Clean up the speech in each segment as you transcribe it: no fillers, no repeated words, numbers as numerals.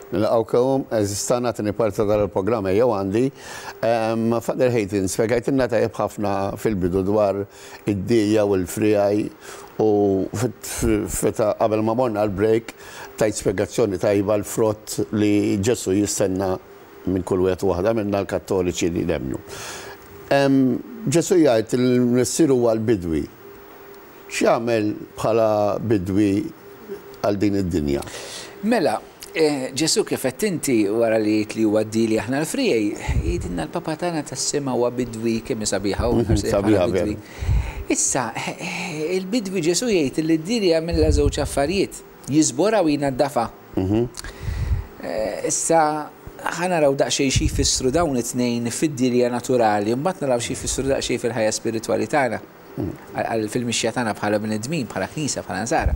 Nilqgħukom, għeżież tagħna, tieni parti ta' dan il-programm Ejjew Għandi. Father Hayton, spjegajtilna tajjeb ħafna fil-bidu dwar id-dija u l-friegħi u feta qabel ma morna l-break tajt spjegazzjoni tajba l-frott li Ġesù jistenna minn kull wieħed u waħda minna l-Kattoliċi li nemmnu. Ġesù jgħid li l-Missier huwa l-bidwi. X'jagħmel bħala bidwi għal din id-dinja? Mela, Ġesù kif għedt inti, wara li jgħid li huwa d-dili aħna l-friegħi, jgħidilna l-Papa tagħna tas-sema huwa bidwi, kemm hi sabiħa hu nħares lejh bħala bidwi. Issa, il-bidwi Ġesù jgħid li d-dili jagħmilha żewġ affarijiet, jiżborha u jnaddafha. Issa, ħa naraw daqsxejn xi jfissru dawn it-tnejn fid-dilja naturali, mbagħad naraw xi jfissru daqsxejn fil-ħajja spiritwali tagħna. Fil-mixja tagħna bħala bnedmin, bħala Knisja, bħala Nsara.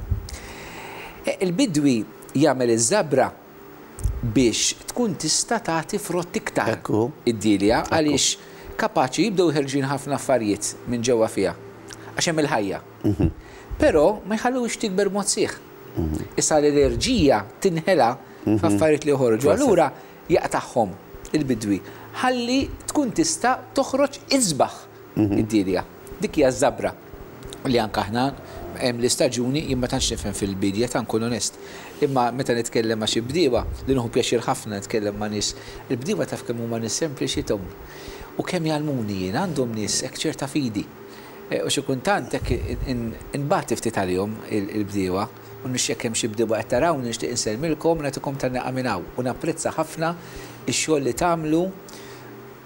Il-bidwi jagħmel iż-żabra biex tkun tista' tagħti frott iktar id-dielja għaliex kapaċi jibdew ħerġin ħafna affarijiet minn ġewwa fiha għax hemm il-ħajja. Però ma jħalluhiex tikber b'mod sħiħ. Issa l-enerġija tinħela f'affarijiet li joħorġu. Allura jaqtagħhom il-bidwi ħalli tkun tista' toħroġ isbaħ id-dielja. Dik hija ż-żabra li anke aħna hemm l-istaġuni, jien ma tantx nifhem fil-biedja ta' nkun onest. Imma meta nitkellem ma' xi bdiewa, li nieħu pjaċir ħafna nitkellem ma' nies, il-bdiewa taf kemm huma nies sempliċi Tom. U kemm jgħallmuni jien, għandhom nies hekk ċerta fidi. U xi kultant hekk inbati ftit għalihom il-bdiewa. U nixtieq jekk hemm xi bdiewa qed tarawni nixtieq insellmilkom u nagħtikom tgħanniqa minn hawn. U napprezza ħafna x-xogħol li tagħmlu.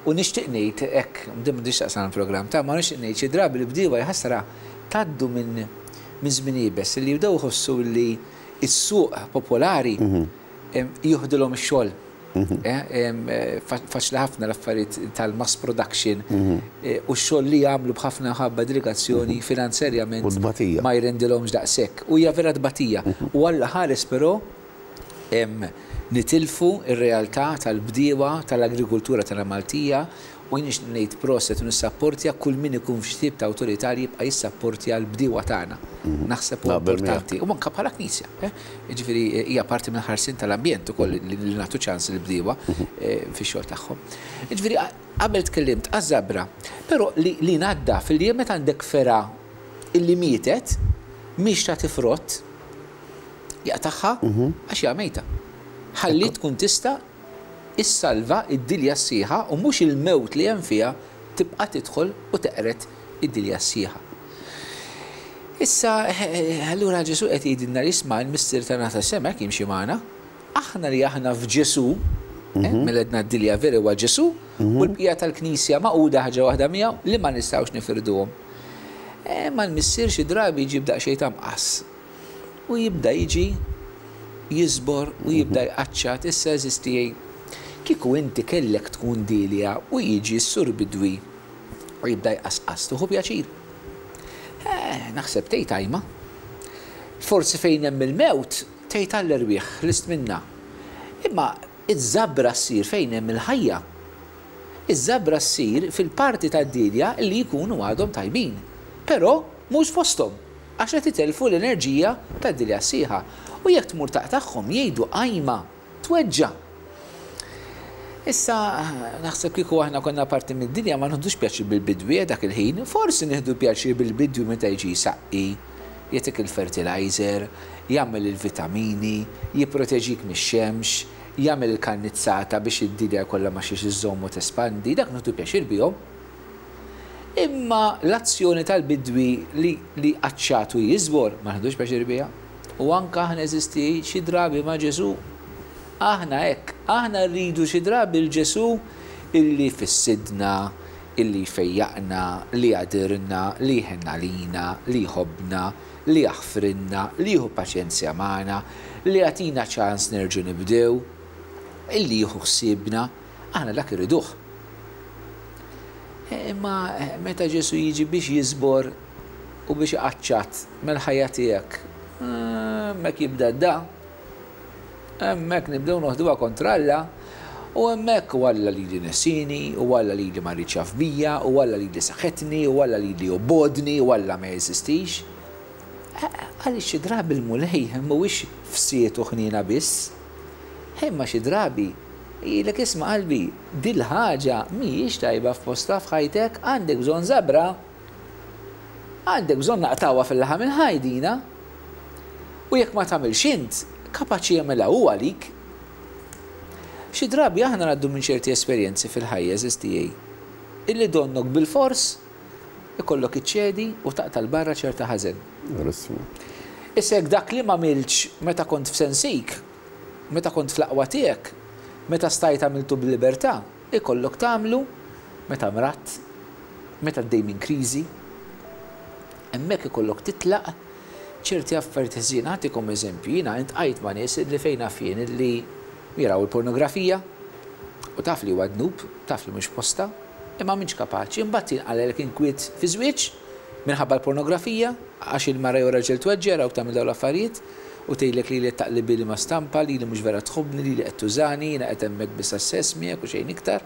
U nixtieq ngħid hekk, din m'għandhiex x'taqsam mal-programm ta' ma nixtieq ngħid xi drabi l-bdiewa jaħasra tgħaddu minn minn żmien iebes li jibdew iħossu li s-suq popolari jieħdilhom ix-xogħol. Faċli ħafna l-affarijiet tal-mass production u x-xogħol li jagħmlu b'ħafna mħabba dedikazzjoni finanzjarjament ma jrendilhomx daqshekk. U hija vera tbatija. U Alla ħares però Nitilfu r-realtà tal-bdiewa tal-agrikultura tagħna Maltija u jien nixtieq ngħid proset u nissapportja kull min ikun f'xi tip ta' awtorità li jibqa' jissapportja l-bdiewa tagħna. Naħseb huwa importanti. U anke bħala Knisja. Jiġifieri hija parti mill-ħarsien tal-ambjent ukoll li nagħtu ċans lill-bdiewa fix-xogħol tagħhom. Jiġifieri qabel tkellimt għaż-żabra, però li ngħaddaf li meta għandek fergħa illi mietet mhix tagħti frott, Jaqtagħha għax hija mejta. Ħalli tkun tista' issalva d-dilja s-sħiħa u mhux il-mewt li hemm fiha tibqa' tidħol u teqred id-dilja s-sħiħa. Issa, allura Ġesù qed jgħidilna li isma' l-Missier tagħna tas-sema hekk jimxi magħna. Aħna li aħna f'Ġesù, mela għedna d-dilja vera huwa Ġesù, u l-bqija tal-Knisja magħquda ħaġa waħda miegħu li ma nistgħux nifirduhom. Imma l-Missier xi drabi jġib daqsxejn ta' mqass. U jibda jiġi jiżbor u jibda jqaċċat, issa għeżież tiegħi, kieku inti kellek tkun Delia u jiġi s-Sur Bidwi u jibda jqasqas, tieħu pjaċir? Eh, naħseb tgħid ajma. Forsi fejn hemm il-mewt tgħid għall-erwieħ, ħlist minnha. Imma iż-żabra ssir fejn hemm il-ħajja. Iż-żabra ssir fil-parti tad-Delia li jkunu għadhom tajbin. Però mhux fosthom. Għax qed itellfu l-enerġija tad-dilja sħiħa. U jekk tmur taqtagħhom jgħidu qajma, tweġġa'. Issa, naħseb kieku aħna konna parti mid-dinja ma nieħdux pjaċir bil-bidwi dak il-ħin. Forsi nieħdu pjaċir bil-bidwi meta jiġi jsaqqi, jagħtik il-fertilizer, jagħmel il-vitamini, jipproteġik mix-xemx, jagħmel il-kannizzata biex id-dilja jkollha ma' xiex iżżomm u tespandi. Dak nieħdu pjaċir bihom. Imma l-azzjoni tal-bidwi li li jqaċċat u jiżbor ma nieħdux pjaċir biha. U anke aħna eżisti xi drabi ma' Ġesù. Aħna hekk, aħna rridu xi drabi 'l Ġesù illi jfissidna, illi jfejjaqna, li jagħdirna, li jħenn għalina, li jħobbna, li jaħfrilna, li jieħu paċenzja magħna, li jagħtina ċans nerġgħu nibdew, illi jieħu ħsiebna. Aħna dak irriduh. Imma meta Ġesù jiġi biex jiżbor u biex iqaċċat mill-ħajja tiegħek, hemmhekk jibda d-da. Hemmhekk nibdew noħduha kontra Alla u hemmhekk u Alla lili nesini, u Alla lili ma riedx jaf bija, u Alla lili saħetni, u Alla lili jobgħodni, u Alla ma jeżistix. Għaliex xi drabi l-Mulej mhuwiex fsied u ħniena biss. Imma xi drabi jgħidlek isma' qalbi, dil-ħaġa mhijiex tajba f'postha f'ħajtek, għandek bżonn żabra. Għandek bżonn naqtgħuha fil-laħam il-ħaj dina. U jekk ma tagħmilx int, kapaċi jagħmilha hu għalik. Xi drabi aħna ngħaddu minn ċerti esperjenzi fil-ħajja, għeżież tiegħi, illi donnok bilfors ikollok iċċedi u taqta' 'l barra ċerta ħażen. Verissimo. Issa jekk dak li m'għamiltx meta kont f'sensik, meta kont fl-aqwa tiegħek, meta stajt għamiltu b'libertà, ikollok tagħmlu meta mradt, meta għaddej minn kriżi. Hemmhekk ikollok titlaq ċerti affarijiet ħżiena. Nagħtikom eżempju, jiena iltqajt ma' nies illi fejn naf jien illi jaraw il-pornografija u taf li huwa dnub, taf li mhux postha, imma m'intx kapaċi. Imbagħad jinqalgħelek inkwiet fiż-żwieġ minħabba l-pornografija, għax il-mara jew raġel tweġġa' jarawk tagħmel dawn l-affarijiet u tgħidlek lili qed taqlibili ma' stampa, lili mhux vera tħobbni, lili qed tużani, jiena qed hemmhekk biss għas-sess miegħek u xejn iktar.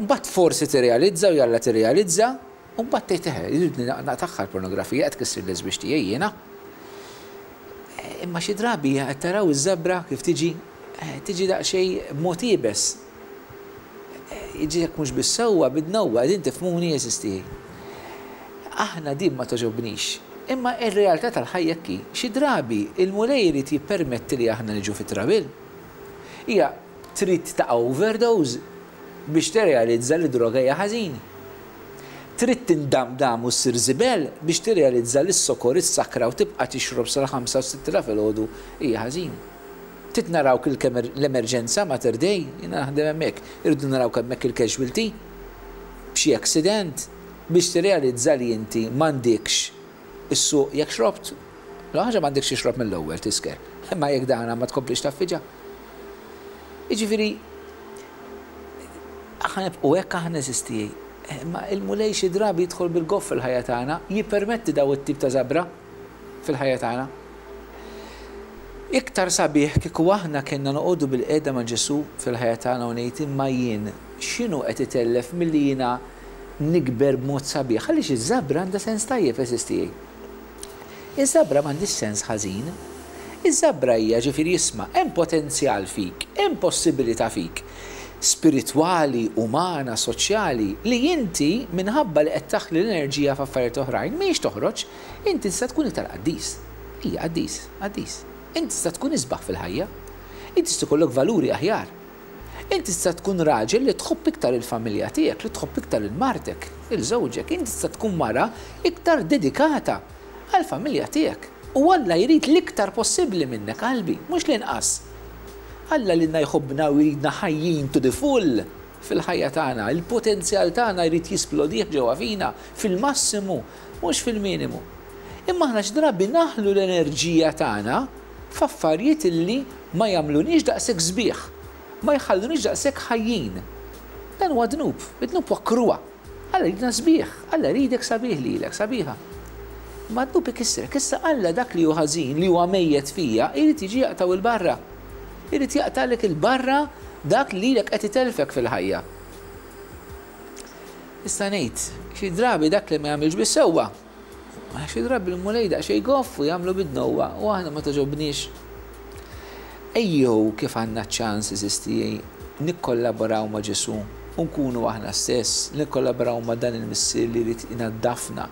Imbagħad forsi tirrealizza u jalla tirrealizza, u mbagħad tgħid eħe, irrid naqtagħha l-pornografija qed tkissirli ż-żwieġ tiegħi jiena. Imma xi drabi qed taraw iż-żebra kif tiġi, tiġi daqsxejn b'mod iebes. Jiġi jekk mhux bis-sewwa, bid-dnewwa, qegħdin tifhmuni għeżież tiegħi. Aħna din ma togħġobnix. Imma r-realtà tal-ħajja hekk hi. Xi drabi il-Mulej irid jippermetti li aħna niġu fi trouble. Hija trid taqa' overdose biex tirrealizza li droga hija ħażin. Trid tindamdam u ssir żibel biex tirrealizza li s-sokor, is-sakra u tibqa' tixrob sal-ħamsa u s-sitta ta' filgħodu hija ħażin. Trid narawk l-emerġenza Mater Dei, jiena naħdem hemmhekk, irridu narawk hemmhekk il-casualty b'xi accident biex tirrealizza li inti m'għandikx issuq jekk xrobt. L-ewwel ħaġa m'għandekx tixrob mill-ewwel tisker, imma jekk dana ma tkomplix tgħaffiġha. Jiġifieri aħna nibqgħu hekk aħna għeżież tiegħi. Imma il-Mulej xi drabi jidħol bil-goff fil-ħajja tagħna, jippermetti daw it-tip ta' żabra fil-ħajja tagħna. Iktar sabiħ kieku aħna kellna noqogħdu bilqiegħda ma' Ġesù fil-ħajja tagħna u ngħid imma jien x'inhu qed itellef milli jiena nikber b'mod sabiħ għaliex iż-żabra għandha sens tajjeb għeżież tiegħi. Iż-żabra m'għandhiex sens ħażin. Iż-żabra hija ġifieri isma' hemm potenzjal fik, hemm possibilità fik spiritwali, umana, soċjali li inti minħabba li qed taħli l-enerġija f'affarijiet oħrajn mhijiex toħroġ, inti tista' tkun iktar qaddis. Ija, qaddis, qaddis. Inti tista' tkun isbaħ fil-ħajja. Inti tista' jkollok valuri aħjar. Inti tista' tkun raġel li tħobb iktar il-familja tiegħek, li tħobb iktar lil martek, lil żewġek. Inti tista' tkun mara iktar dedikata għall-familja tiegħek. U Alla jrid l-iktar possibbli minnek, qalbi, mhux l-inqas. Alla lilna jħobbna u jridna ħajjin to the full fil-ħajja tagħna. Il-potenzjal tagħna jrid jisplodih ġewwa fina fil-massimu, mhux fil-minimu. Imma aħna xi drabi naħlu l-enerġija tagħna f'affarijiet illi ma jagħmluniex daqshekk sbieħ, ma jħalluniex daqshekk ħajjin. Dan huwa dnub, id-dnub huwa kruha. Alla jridna sbieħ, Alla jridek sabiħ lilek, sabiħa. Imma d-dnub ikissrek. Issa Alla dak li hu ħażin, li huwa mejjet fija, irid jiġi jaqtgħu 'l barra. Irid jaqtagħlek 'il barra dak li lilek qed itellfek fil-ħajja. Nista' ngħid, xi drabi dak li ma jagħmilx bis-sewwa, xi drabi l-Mulej daqsxejn goff u jagħmlu bid-dnewwa u aħna ma togħġobniex. Ejjew kif għandna ċ-ċans għeżież tiegħi nikkollaboraw ma' Ġesù u nkunu aħna stess, nikkollaboraw ma' dan il-Missier li jrid inaddafna,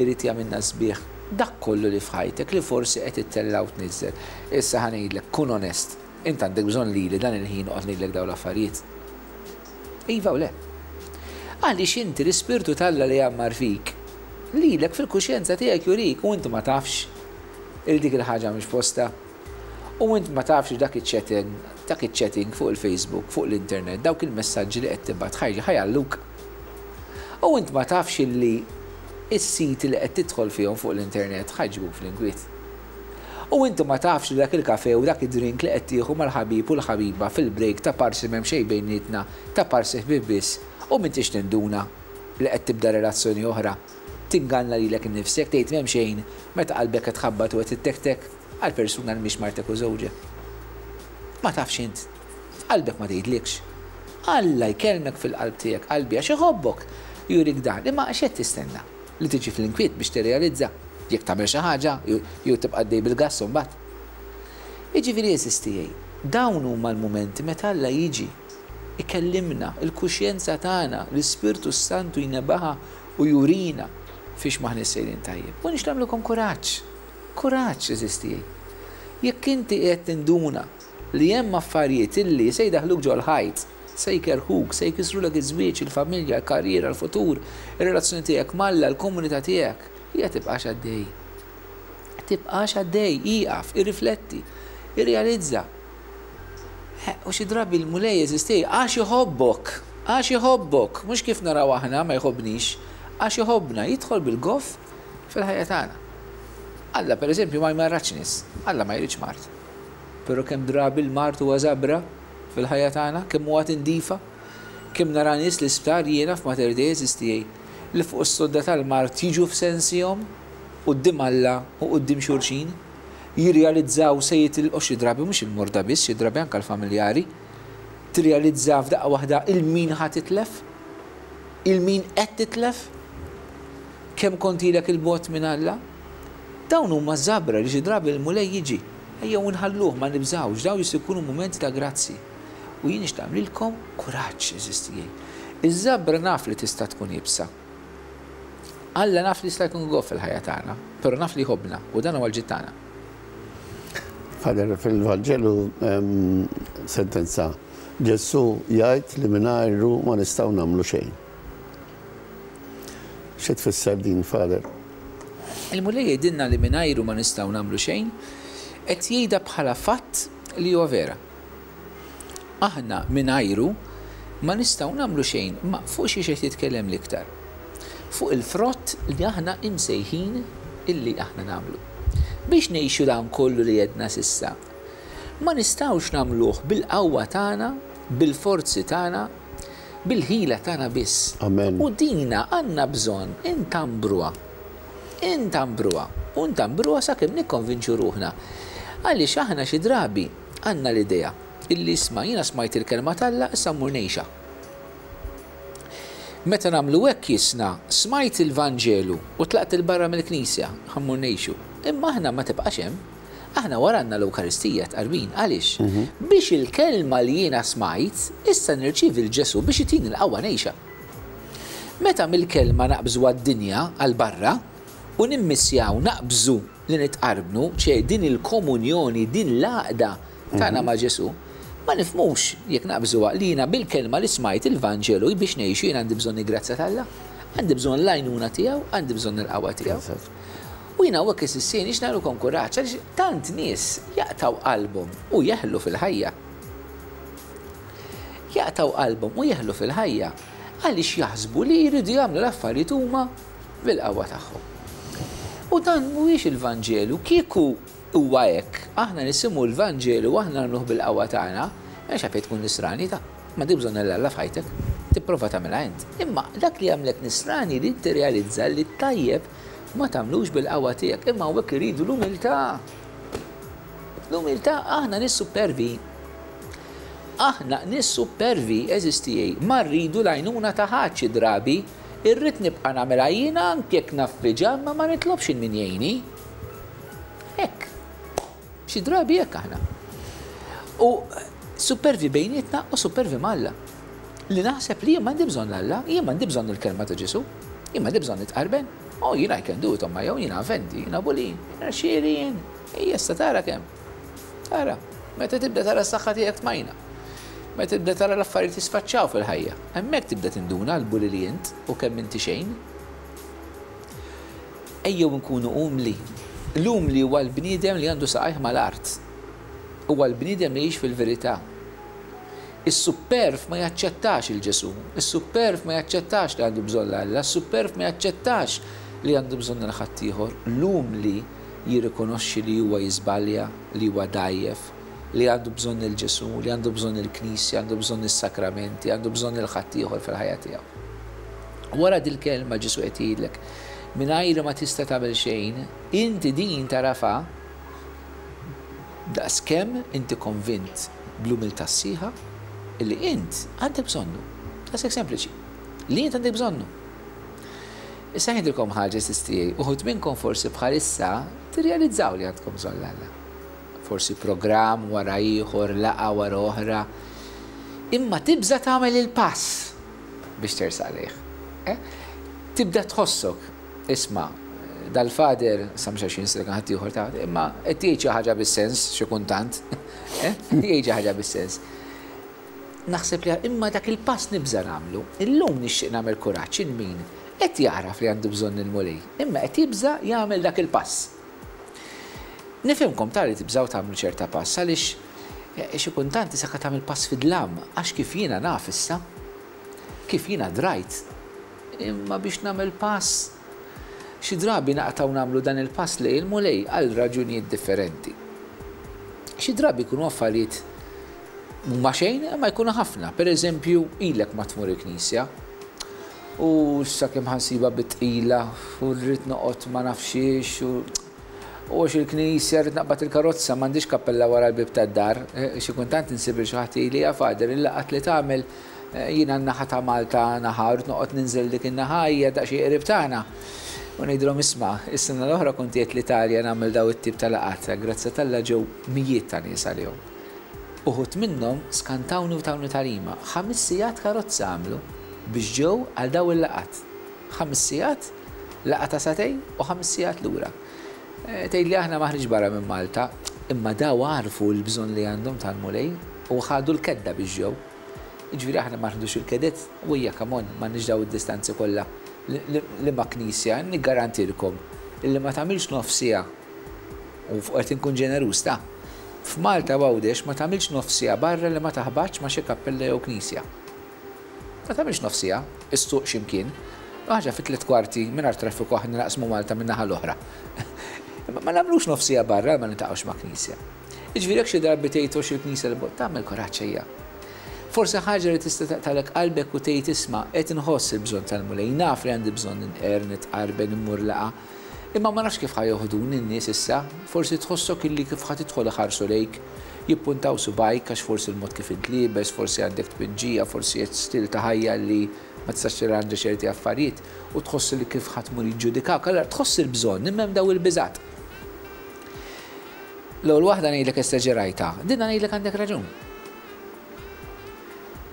irid jagħmilna sbieħ. Dak kollu li f'ħajtek li forsi qed ittella' u tniżżel. Issa ħa ngħidlek, kun onest, int għandek bżonn lili dan il-ħin noqgħod ngħidlek dawn l-affarijiet? Iva u le. Għaliex inti l-Ispirtu t'Alla li jgħammar fik, lilek fil-kuxjenza tiegħek jurik u int ma tafx li dik il-ħaġa mhix postha. U int ma tafx li dak iċ-chatting, dak iċ-chatting fuq il-Facebook, fuq l-internet, dawk il-messaġġi li qed tibgħat ħa jgħalluk. U int ma tafx illi s-siti li qed tidħol fihom fuq l-internet ħa jġibuk fl-inkwiet. U inti ma tafx li dak il-kafè u dak id-drink li qed tieħu mal-ħabib u l-ħabiba fil-break ta' parsi m'hemm xejn bejnietna, ta' parsi ħbieb biss, u m'intix tinduna li qed tibda relazzjoni oħra. Tinganna lilek innifsek tgħid m'hemm xejn meta qalbek qed tħabbat u qed ittektek għal persuna li mhix martek u żewġek. Ma tafx int. Qalbek ma tgħidlikx. Alla jkellmek fil-qalb tiegħek, qalbi, għax iħobbok, jurik dan. Imma x'qed tistenna? Li tiġi fl-inkwiet biex tirrealizza jekk tagħmel xi ħaġa jew tibqa' għaddej bil-gass imbagħad. Jiġifieri għeżież tiegħi, Dawn huma l-mumenti meta Alla jiġi, ikellimna, il-kuxjenza tagħna, l-Ispirtu s-Santu jnebaħha u jurina fiex m'aħniex sejrin tajjeb. U nixtieq nagħmlilkom kuraġġ. Kuraġġ, għeżież tiegħi. Jekk inti qiegħed tinduna li hemm affarijiet illi se jdaħħluk ġol-ħajt, se jkerrħuk, se jkissrulek iż-żwieġ, il-familja, il-karriera, il-futur, ir-relazzjoni tiegħek m'Alla, il-komunità tiegħek, hija tibqax għaddej. Tibqax għaddej, ieqaf, irrifletti, irrealizza. U xi drabi l-Mulej għeżież tiegħi għax iħobbok, għax iħobbok, mhux kif naraw aħna ma jħobbnix, għax iħobbna, jidħol bil-goff fil-ħajja tagħna. Alla pereżempju ma jmarradx nies, Alla ma jridx mard. Però kemm drabi l-mard huwa żabra fil-ħajja tagħna, kemm huwa tindifa, kemm nara nies l-isptar jiena f'Mater Dei għeżież tiegħi li fuq is-sodda tal-mard jiġu f'sensihom quddiem Alla u quddiem xulxin, jirrealizzaw se jitilqu xi drabi mhux il-morda biss, xi drabi anke l-familjari, tirrealizza f'daqqa waħda 'il min ħa titlef, 'il min qed titlef, kemm kont ilek 'il bogħod minn Alla. Dawn huma żabra li xi drabi l-Mulej jiġi. Ejjew inħalluh, ma nibżgħux, dawn jistgħu jkunu mumenti ta' grazzi. U jien nixtieq nagħmlilkom kuraġġ, għeżież tiegħi. Iż-żabra naf li tista' tkun iebsa. Alla naf li jista' jkun goff fil-ħajja tagħna, però naf li jħobbna u dan huwa l-ġid tagħna. Father, fil-Vanġelu hemm sentenza, Ġesù jgħid li mingħajru ma nistgħu nagħmlu xejn. Xi tfisser din, Father? Il-Mulej jgħidilna li mingħajru ma nistgħu nagħmlu xejn, qed jgħidha bħala fatt li huwa vera. Aħna mingħajru ma nistgħu nagħmlu xejn, imma fuq xiex qed jitkellem l-iktar? Fuq il-frott li aħna imsejħin illi aħna nagħmlu. Biex ngħixu dan kollu li għedna s'issa, ma nistgħux nagħmluh bil-qawwa tagħna, bil-forzi tagħna, bil-ħila tagħna biss. Amen. U dina għandna bżonn intambruha. Intambruha. U ntambruha sakemm nikkonvinċu ruħna. Għaliex aħna xi drabi Għandna l-idea illi isma' jiena smajt il-kelma t'Alla issa mmur ngħixha. Meta nagħmlu hekk jisna smajt il-Vanġelu u tlaqt 'il barra mill-Knisja, ħa mmur ngħixu. Imma aħna ma tibqax hemm. Aħna wara għandna l-Ewkaristija tqarbin. Għaliex? Biex il-kelma li jiena smajt, issa nirċievi 'l Ġesù biex itini l-qawwa ngħixha. Meta mill-kelma naqbżu għad-dinja, għal barra, u nimmissjaw naqbżu li nitqarbnu, ċe din il-komunjoni, din l-għaqda tagħna ma' Ġesù, ma nifhmux, jekk naqbżuha, li jiena bil-kelma li smajt, il-Vanġelu, biex ngħixu jien għandi bżonn il-grazzja t'Alla, għandi bżonn l-għajnuna tiegħu, għandi bżonn il-qawwa tiegħu. U jiena hawnhekk is-sissien biex nagħmlilkom kuraġġ għaliex tant nies jaqtgħu qalbhom u jeħlu fil-ħajja. Jaqtgħu qalbhom u jeħlu fil-ħajja għaliex jaħsbu li jridu jagħmlu l-affarijiet huma bil-qawwa tagħhom. U dan mhuwiex il-Vanġelu. Kieku huwa hekk, aħna nisimgħu l-Vanġelu u aħna nagħmluh bil-qawwa tagħna, m'hemmx għalfejn tkun Nisrani ta'. M'għandek bżonn 'l Alla f'ħajtek. Tipprova tagħmilha int. Imma dak li jagħmlek Nisrani li tirrealizza li t-tajjeb ma tagħmlux bil-qawwa tiegħek, imma hawnhekk irridu l-umiltà. L-umiltà aħna nies supervi. Aħna nies supervi, għeżież tiegħi, ma rridu l-għajnuna ta' ħadd xi drabi. Irrid nibqa' nagħmilha jiena anke jekk naffiġha imma ma nitlobx 'il min jgħinni. Hekk. Xi drabi hekk aħna. U supervi bejnietna u supervi ma' Alla. Li naħseb li jien m'għandi bżonn Alla, jien m'għandi bżonn il-kelma ta' Ġesù, jien m'għandi bżonn nitqarben. Oh, jien I can do it on my own, jiena aventi, jiena bulin, jiena xieri jien. Ejja issa tara kemm. Tara, meta tibda tara s-saħħa tiegħek tmajna. Meta tibda tara l-affarijiet jisfaċċaw fil-ħajja, hemmhekk tibda tinduna l-bully li int u kemm inti xejn. Ejjew inkunu umli. L-umli huwa l-bniedem li għandu saqajh mal-art. Huwa l-bniedem li jgħix fil-verità. Is-supperv ma jaċċettax 'il Ġesù, is-supperv ma jaċċettax li għandu bżonn 'l Alla, is-supperv ma jaċċettax li għandu bżonn 'il ħaddieħor. L-umli jirrikonoxxi li huwa jiżbalja, li huwa dgħajjef, li għandu bżonn 'il Ġesù, li għandu bżonn il-Knisja, għandu bżonn is-sakramenti, għandu bżonn 'il ħaddieħor fil-ħajja tiegħu. Wara dil-kelma Ġesù qed jgħidlek, mingħajri ma tista' tagħmel xejn, inti din tagħrafha daqskemm inti konvint bl-umiltà sħiħa illi int għandek bżonnu. Daqshekk sempliċi. Li int għandek bżonnu. Issa ngħidilkom ħaġa, għeżież tiegħi, uħud minnkom forsi bħalissa tirrealizzaw li għandkom bżonn 'l Alla. Forsi programm wara ieħor, laqgħa wara oħra. Imma tibża' tagħmel il-pass biex tersaq lejh. Eh? Tibda tħossok, isma' dal-father, sa mhux għax jinsilek ħadd ieħor ta' imma qed jgħid xi ħaġa bis-sens xi kuntant. Eh? Jgħid xi ħaġa bis-sens. Naħseb li imma dak il-pass nibża' nagħmlu. Illum nixtieq nagħmel kuraġġ il min qed jagħraf li għandu bżonn il-Mulej, imma qed jibża' jagħmel dak il-pass. Nifhimkom ta' li tibżgħu tagħmlu ċerta pass għaliex xi kultant isek tagħmel pass fid-dlam għax kif jiena naf issa, kif jiena drajt, imma biex nagħmel pass xi drabi naqtgħu nagħmlu dan il-pass lejn il-Mulej għal raġunijiet differenti. Xi drabi jkunu affarijiet mhuma xejn imma jkunu ħafna. Per eżempju, ilek ma tmur il-knisja u sakemm ħa nsibha bit-tqila u rrid noqgħod ma nafx xiex u u għax il-knisja rrid naqbad il-karozza m'għandix kappella wara l-bieb tad-dar. Xi kultant insib lil xi ħadd jgħidli ja Father il-laqgħat li tagħmel jiena n-naħa ta' Malta naħa rrid noqgħod ninżel dik in-naħa hija daqsxejn qrib tagħna. U ngħidilhom isma' is-sena l-oħra kont qiegħed l-Italja nagħmel daw it-tip ta' laqgħat, grazzja t'Alla ġew mijiet ta' nies għalihom. Uħud minnhom skantawni u tawni tagħlima. Ħamis sigħat karozza għamlu biex ġew għal daw il-laqgħat. 5 sigħat, laqgħa ta' sagħtejn u 5 sigħat lura. Tgħidli aħna m'aħniex barra minn Malta, imma daw għarfu l-bżonn li għandhom tal-Mulej u ħadu l-kedda biex ġew. Jiġifieri aħna ma nħdux il-keded, u hija come on, m'għandniex daw id-distanzi kollha. Liema knisja, niggarantilkom illi ma tagħmilx nofs siegħa U qed inkun ġeneruż ta'. F'Malta u Għawdex ma tagħmilx nofs siegħa barra li ma taħbatx ma' xi kappella jew knisja. Ma tagħmilx nofs siegħa, issuq xi mkien. Ħaġa fi 3/4 mingħajr traffiku aħna naqsmu Malta min-naħa l-oħra. Imma ma nagħmlux nofs siegħa barra li ma niltaqgħux ma' knisja. Jiġifieri jekk xi drabi tgħid għox il-knisja 'l bogħod, tagħmel kuraġġ ejja. Forsi ħaġa li tista' taqtagħlek qalbek u tgħid isma' qed inħoss il-bżonn tal-Mulej, naf li għandi bżonn inqerr, nitqarben, immur laqgħa. Imma ma nafx kif ħa joħduni n-nies issa. Forsi tħossok illi kif ħa tidħol iħarsu lejk, jippuntaw subgħajk għax forsi l-mod kif int liebes, forsi għandek tpinġija, forsi qed stil ta' ħajja li ma tistax tirranġa ċerti affarijiet u tħoss li kif ħa tmur jiġġudikawk. Allura tħoss il-bżonn imma hemm dawn il-biżgħat. L-ewwel waħda ngħidlek esaġerajtha, dinha ngħidlek għandek raġun.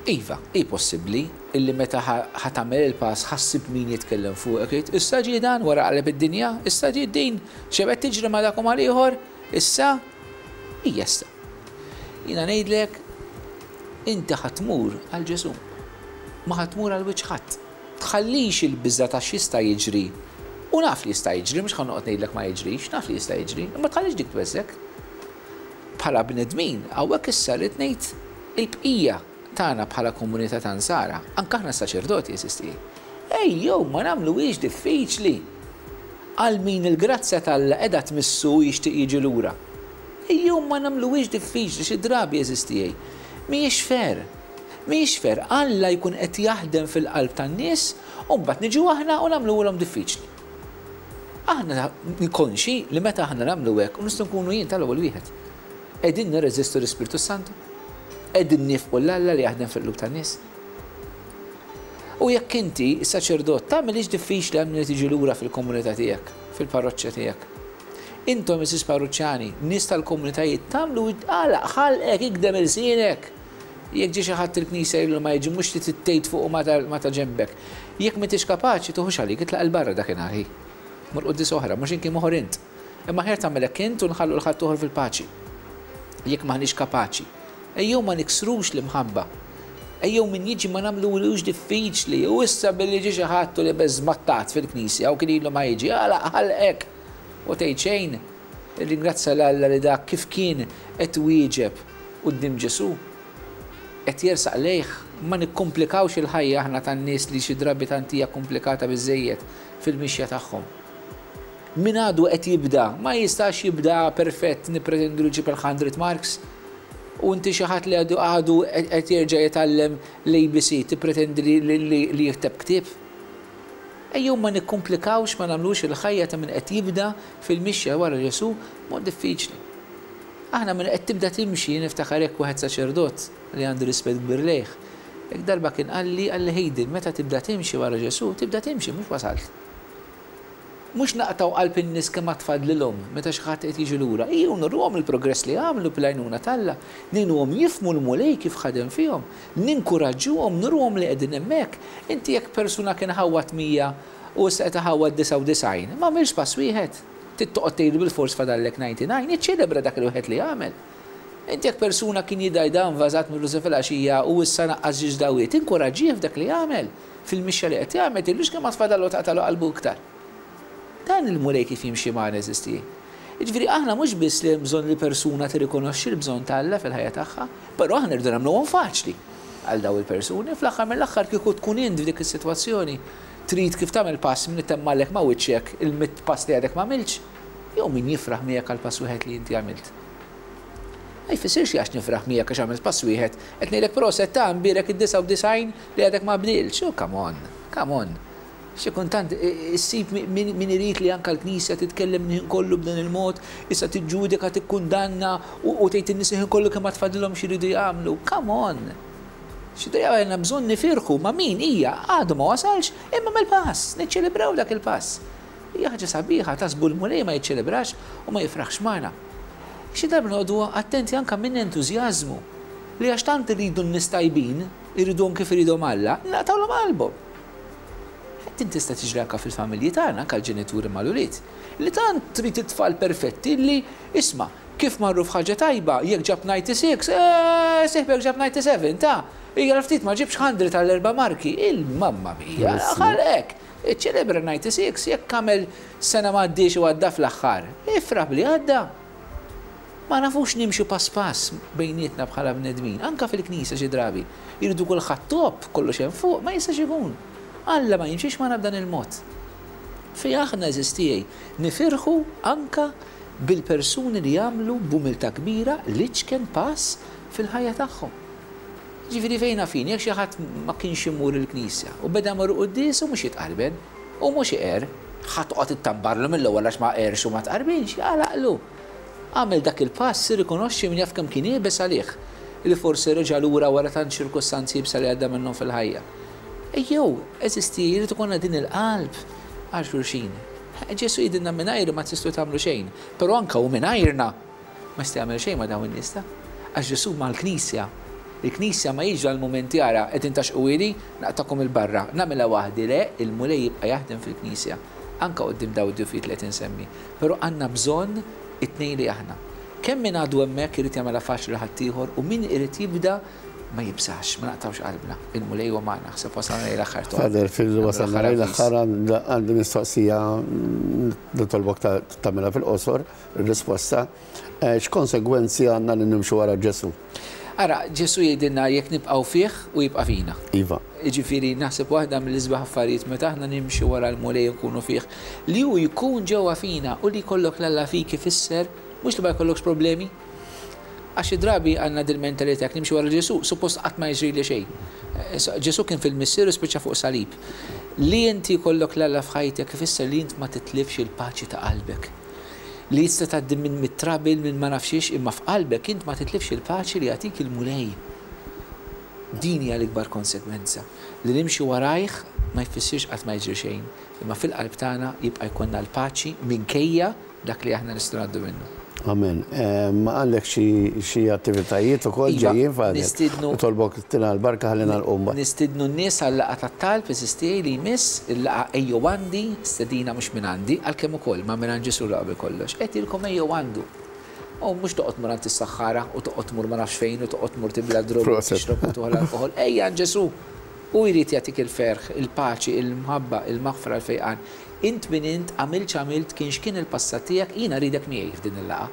Iva, hi possibbli illi meta ħa tagħmel il-pass ħa ssib min jitkellem fuqek jgħid, issa ġie dan wara qaleb id-dinja, issa ġiet din, xebgħet tiġri ma' dak u mal-ieħor, issa, hija issa. Jiena ngħidlek, inti ħa tmur għal Ġesù. Ma ħa tmur għal wiċċ ħadd. Tħallix il-biża' ta' x'jista' jiġri. U naf li jista' jiġri, mhux ħa noqgħod ngħidlek ma jiġrix, naf li jista' jiġri, imma tħallix dik tweżżek. Bħala bnedmin, hawnhekk issa rrid ngħid il-bqija tagħna bħala komunità ta' Nsara, anke aħna s-saċerdoti għeżież tiegħi. Ejjew ma nagħmluhiex diffiċli għal min il-grazzja t'Alla qiegħda tmissu u jixtieq jiġi lura. Ejjew ma nagħmluhiex diffiċli xi drabi għeżież tiegħi. Mhijiex fair. Mhijiex fair. Alla jkun qed jaħdem fil-qalb tan-nies u mbagħad niġu aħna u nagħmluhulhom diffiċli. Aħna konxi li meta aħna nagħmlu hekk, u nistgħu nkunu jien tal-ewwel wieħed, qegħdin nirreżistu l-Ispirtu s-Santu? Qegħdin niefqu 'l Alla li jaħdem fil-qlub tan-nies? U jekk inti, saċerdot, tagħmilhiex diffiċli għal min irid jiġi lura fil-komunità tiegħek, fil-parroċċa tiegħek. Intom għeżież parruċċani, nies tal-komunitajiet, tagħmlu għalaq ħalqek, ikdem ilsienek. Jekk ġie xi ħadd il-knisja ilu ma jiġi mhux li trid tgħid fuqu ma ta' ġenbek. Jekk m'intix kapaċi, tuħux għalik, itlaq 'il barra dakinhar hi. Mur quddiesa oħra, mhux inki moħor int. Imma aħjar tagħmel hekk int u nħallu 'l ħaddieħor fil-paċi. Jekk m'aħniex kapaċi. Ejjew ma niksrux l-imħabba. Ejjew min jiġi ma nagħmluhulux diffiċli. U issa billi ġie xi ħadd u libes żmattat fil-knisja u kien ilu ma jiġi, għalaq ħalqek u tgħid xejn. Irringrazzja 'l Alla li dak kif kien qed iwieġeb quddiem Ġesù, qed jersaq lejh. Ma nikkumplikawx il-ħajja aħna tan-nies li xi drabi tant hija kumplikata biżżejjed fil-mixja tagħhom. Min għadu qed jibda, ma jistax jibda perfett nippretendu li jġib il-hundred marks. U inti xi ħadd li għadu għadu qed jerġa' jitgħallem l-ABC tippretendi li jikteb ktieb? Ejjew ma nikkumplikawx, ma nagħmlux il-ħajja ta' min qed jibda fil-mixja wara Ġesù mod diffiċli. Aħna minn qed tibda timxi, niftakar hekk wieħed saċerdot li għandi rispett kbir lejh, hekk darba kien qalli, qalli Hayden, meta tibda timxi wara Ġesù, tibda timxi, mhux wasalt. Mhux naqtgħu qalb in-nies kemm għad fadlilhom meta xi ħadd qed jiġi lura. Ejjew nuruhom il-progress li għamlu bl-għajnuna t'Alla. Ngħinuhom jifhmu l-Mulej kif ħadem fihom. Ninkuraġġuhom, nuruhom li qegħdin hemmhekk. Inti jekk persuna kien ħawwad 100 u issa qed iħawwad 99, m'għamilx pass wieħed. Trid toqgħod tgħidlu bilfors fadallek 99, iċċelebra dak il-wieħed li għamel. Inti jekk persuna kien jidgħi dan vażat mir-ruża filgħaxija u issa naqqas ġiex dawwiet, inkuraġġih f'dak li jagħmel, fil-mixja li qed jagħmel, tgħidlux kemm għad fadallu taqtagħlu qalbu iktar. Dan il-Mulej kif jimxi magħna għeżież tiegħi. Jiġifieri aħna mhux biss li hemm bżonn li persuna tirrikonoxxi l-bżonn ta' Alla fil-ħajja tagħha, però aħna rridu nagħmluhom faċli għal dawn il-persuni. Fl-aħħar mill-aħħar kieku tkun int f'dik is-sitwazzjoni, trid kif tagħmel pass min itemmgħalek ma' wiċċek il-mitt pass li għadek m'għamiltx, jew min jifraħ miegħek għall-pass wieħed li inti għamilt. Ma jfissirx li għax nifraħ miegħek għax għamilt pass wieħed, qed ngħidlek proset ta' imbierek id-99 li għadek ma bdiltx. Oh come on, come on. Xi kultant issib min irid li anke l-Knisja titkellem il-ħin kollu b'dan il-mod, issa tiġġudika, tikkundanna u tgħid in-nies il-ħin kollu kemm għad fadlilhom x'iridu jagħmlu. Come on! Xi darba għandna bżonn nifirħu ma' min hija għadu ma wasalx imma għamel pass, niċċelebraw dak il-pass. Hija ħaġa sabiħa, taħsbu l-Mulej ma jiċċelebrax u ma jifraħx magħna. Xi darba noqogħdu attenti anke minn entużjażmu li għax tant irridu n-nies tajbin, irriduhom kif iridhom Alla, naqtgħulhom qalbhom. Din tista' tiġri anke fil-familji tagħna, anke l-ġenituri mal-ulied, li tant trid it-tfal perfetti li, isma', kif marru f'ħaġa tajba, jekk ġab 96, eeh, sieħbek ġab 97, ta, hija ftit ma ġibx 100 għall-erba' marki, il-mamma mia, ħalqek! Iċċelebra 96 jekk għamel sena m'għaddiex u għadda fl-aħħar. Ifraħ b'li għadda. Ma nafux nimxu pass pass bejnietna bħala bnedmin, anke fil-Knisja xi drabi. Irridu kulħadd top, kollox hemm fuq, ma jistax ikun. Alla ma jimxix magħna b'dan il-mod. Fejn aħna għeżież tiegħi, nifirħu anke bil-persuni li jagħmlu b'umiltà kbira l-iċken pass fil-ħajja tagħhom. Jiġifieri fejn naf jien, jekk xi ħadd ma kienx imur il-knisja u beda jmur quddies hu mhux jitqarben, hu mhux iqerr, ħa toqgħod ittambarlu mill-ewwel għax ma qerrx u ma tqarbinx, jagħlaqlu. Għamel dak il-pass, irrikonoxxi min jaf kemm kien iebes għalih li forsi reġa' lura wara tant ċirkustanzi iebsa li għadda minnhom fil-ħajja. Ejjew, għeżież tiegħi, jrid ikollna din il-qalb għal xulxin. Ġesù jgħidilna mingħajri ma tistgħu tagħmlu xejn, però anke hu mingħajrna. Ma jista' jagħmel xejn ma' dawn in-nies ta'. Għax Ġesù mal-Knisja. Il-Knisja ma jiġri għall-mumenti ara, qegħdin tgħaxxqu ili, naqtagħkom 'il barra, nagħmilha waħdi, le, il-Mulej jibqa' jaħdem fil-Knisja, anke quddiem dawn id-djufijiet li qed insemmi. Però għandna bżonn it-tnejn li aħna. Kemm min għadu hemmhekk irid jagħmilha faċli lil ħaddieħor u min irid jibda ma jibżax, ma naqtgħux qalbna. Il-Mulej huwa magħna. Ħseb wasalna lejn l-aħħar Tom. Father, fil wasalna lejn l-aħħar għandi mistoqsija nitolbok tagħmilha fil-qosor. Risposta, X'konsegwenzi għandna li nimxu wara Ġesù? Ara, Ġesù jgħidilna jekk nibqgħu fih u jibqa' fina. Iva. Jiġifieri naħseb waħda mill-isbaħ affarijiet meta aħna nimxu wara l-Mulej u nkunu fih, li hu jkun ġewwa fina u li jkollok 'l Alla fik ifisser mhux li ma jkollokx problemi. Għax xi drabi għandna dil-mentalità jekk nimxi wara Ġesù, suppost qatt ma jiġrili xejn. Ġesù kien fil-Missier u spiċċa fuq salib. Li inti jkollok 'l Alla f'ħajtek ifisser li int ma titlifx il-paċi ta' qalbek. Li tista' tgħaddi minn mit-trouble, minn ma nafx xiex, imma f'qalbek int ma titlifx il-paċi li jagħtik il-Mulej. Din hija l-ikbar konsegwenza. Li nimxu warajh ma jfissirx qatt ma jiġri xejn, imma fil-qalb tagħna jibqa' jkollna l-paċi minkejja dak li aħna nistgħu ngħaddu minnu. Amen. Għandek xi attivitajiet ukoll Iva, ġejjin, Father? nistiednu. Nitolbok tina l-barka ħalli nagħlqu mbagħad. Nistiednu n-nies għal-laqgħa tat-talb, għeżież tiegħi, li jmiss, il-laqgħa Ejjew Għandi, stedina mhux minn għandi, għalkemm ukoll, ma minn għand Ġesù l-aqwa qabel kollox. Qed jgħidilkom ejjew għandu. U mhux toqgħod tmur għand is-saħħara u toqgħod tmur ma nafx fejn u toqgħod tmur tibla' d-drogi u tixrob u tieħu l-alkoħol. Ejja għand Ġesù! Hu jrid jagħtik il-ferħ, il-paċi, il-mħabba, il-maħfra, il-fejqan. Int min int, għamilt x'għamilt, kien x'kien il-passat tiegħek, jiena rridek miegħi f'din il-laqgħa.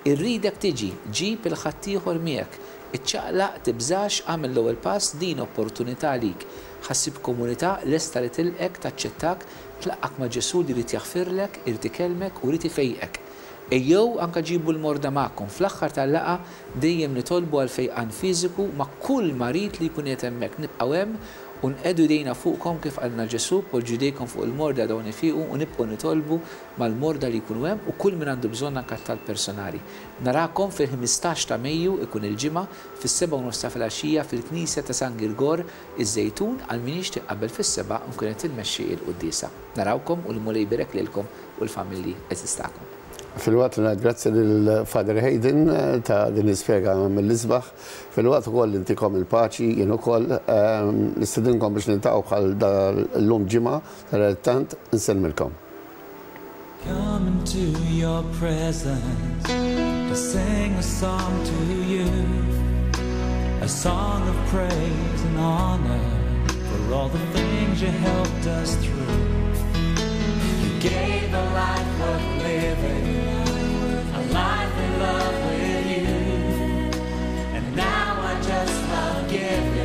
Irridek tiġi, ġib 'il ħaddieħor miegħek. Iċċaqlaq, tibżax, agħmel l-ewwel pass, din opportunità għalik. Ħa ssib komunità lesta li tilqgħek, taċċettak, tlaqqgħek ma' Ġesù li jrid jaħfirlek, irid ikellmek u jrid ifejqek. Ejjew anke ġibu l-morda magħkom. Fl-aħħar tal-laqgħa dejjem nitolbu għall-fejqan fiżiku ma' kull marid li jkun qiegħed hemmhekk. Nibqgħu hemm. U nqiegħdu jdejna fuqkom kif qalilna Ġesù, poġġu jdejkom fuq il-morda dawn ifiqu u nibqgħu nitolbu mal-morda li jkunu hemm u kull min għandu bżonn anke t-talb personali. Narakom fil-15 ta' Mejju, ikun il-Ġimgħa, fis-sebgħa u nofs ta' filgħaxija fil-Knisja ta' San Girgor, iż-Żejtun, għal min jixtieq qabel fis-sebgħa nkun qed immexxi il-quddiesa. Narawkom u l-Mulej ibierek lilkom u l-familji għeżież tagħkom. Filwaqt li ngħid grazzi lil Father Hayden ta' din l-ispjega mill-isbaħ, filwaqt ukoll li ntikom il-paċi jien ukoll, nistedinkom biex niltaqgħu bħal dal-lum ġimgħa, sadanittant insellmilkom. Come into your presence to sing a song to you, a song of praise and honor for all the things you helped us through. You gave a life worth living, a life in love with you, and now I just love giving.